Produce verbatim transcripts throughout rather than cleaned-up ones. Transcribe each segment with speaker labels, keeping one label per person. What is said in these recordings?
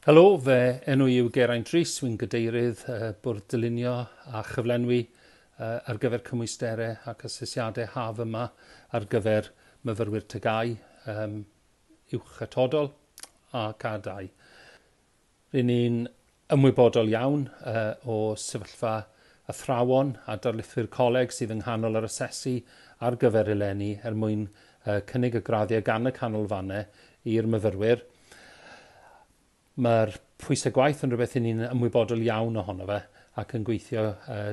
Speaker 1: Helo, fe enw i yw Geraint Rhys, wy'n gadeirydd uh, Bwrdd Dylunio a Chyflenwi uh, ar gyfer cymwysterau ac asesiadau haf yma ar gyfer myfyrwyr T G A U, um, uwch atodol a C dau. Ry'n ni'n ymwybodol iawn uh, o sefyllfa athrawon a darlithwyr coleg sydd yng nghanol yr asesu ar gyfer eleni er mwyn uh, cynnig y graddiau gan y canolfannau i'r myfyrwyr. Mae'r pwysau gwaith yn rhywbeth i ni'n ymwybodol iawn ohono fe ac yn gweithio uh,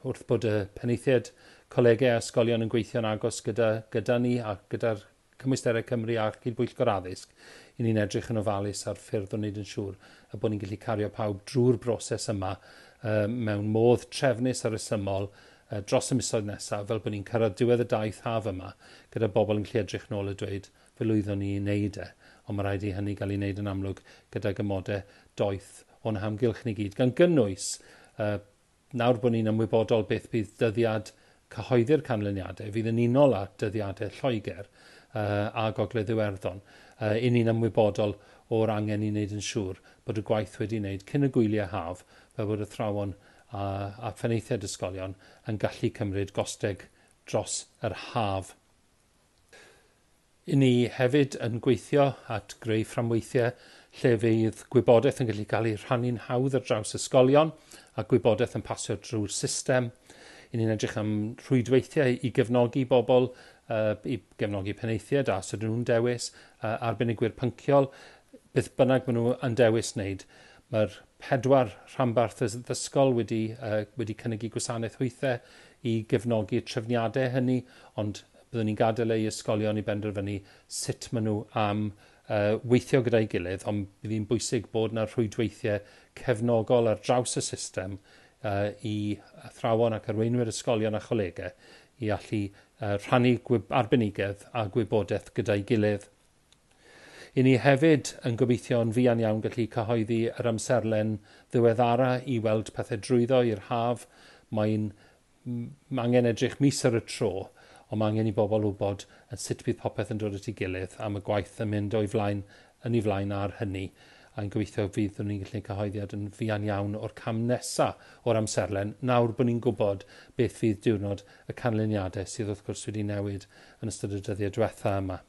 Speaker 1: wrth bod y penaethiaid colegau a ysgolion yn gweithio'n agos gyda, gyda ni a gyda'r Cymwysterau Cymru a Cydbwyllgor Addysg, i ni'n edrych yn ofalus ar ffyrdd o wneud yn siŵr y bod ni'n gallu cario pawb drwy'r broses yma uh, mewn modd trefnus a rhesymol uh, dros y misoedd nesaf, fel bod ni'n cyrraedd diwedd y daith haf yma gyda bobl yn gallu edrych nôl a dweud fe lwyddon ni i wneud e, ond mae rhaid i hynny gael ei wneud yn amlwg gydag amodau doeth o'n hamgylch ni gyd, gan gynnwys uh, nawr bod ni'n ymwybodol beth bydd dyddiad cyhoeddi'r canlyniadau, fydd yn unol â dyddiadau Lloegr uh, a Gogledd Iwerddon. Uh, i ni'n ymwybodol o'r angen i wneud yn siŵr bod y gwaith wedi wneud cyn y gwyliau haf, fel bod athrawon a, a phenaethiaid ysgolion yn gallu cymryd gosteg dros yr haf. I ni hefyd yn gweithio at greu fframweithiau lle fydd gwybodaeth yn gallu cael ei rhannu'n hawdd ar draws ysgolion a gwybodaeth yn pasio drwy'r system. I ni'n edrych am rhwydweithiau i gefnogi bobl, uh, i gefnogi penaethiaid a os ydyn nhw'n dewis, uh, arbenigwyr pynciol, beth bynnag maen nhw yn dewis wneud. Mae'r pedwar rhanbarth addysgol wedi, uh, wedi cynnig eu gwasanaeth hwythau i gefnogi trefniadau hynny, ond byddwn ni'n gadael eu ysgolion i benderfynu sut maen nhw am uh, weithio gyda'i gilydd, ond bydd hi'n bwysig bod yna rhwydweithiau cefnogol ar draws y system uh, i athrawon ac arweinwyr ysgolion a cholegau i allu uh, rhannu arbenigedd a gwybodaeth gyda'i gilydd. I ni hefyd yn gobeithio'n fuan iawn gallu cyhoeddi yr amserlen ddiweddara i weld pethau drwyddo i'r haf. Mae'n angen edrych mis ar y tro, ond mae angen i bobl wybod yn sut bydd popeth yn dod at ei gilydd am y gwaith yn mynd o'i flaen, yn ei flaen ar hynny. A'n gobeithio fydd ni'n gallu cyhoeddiad yn fuan iawn o'r cam nesaf o'r amserlen, nawr bod ni'n gwybod beth fydd diwrnod y canlyniadau sydd wrth gwrs wedi newid yn ystod y dyddiau diwetha yma.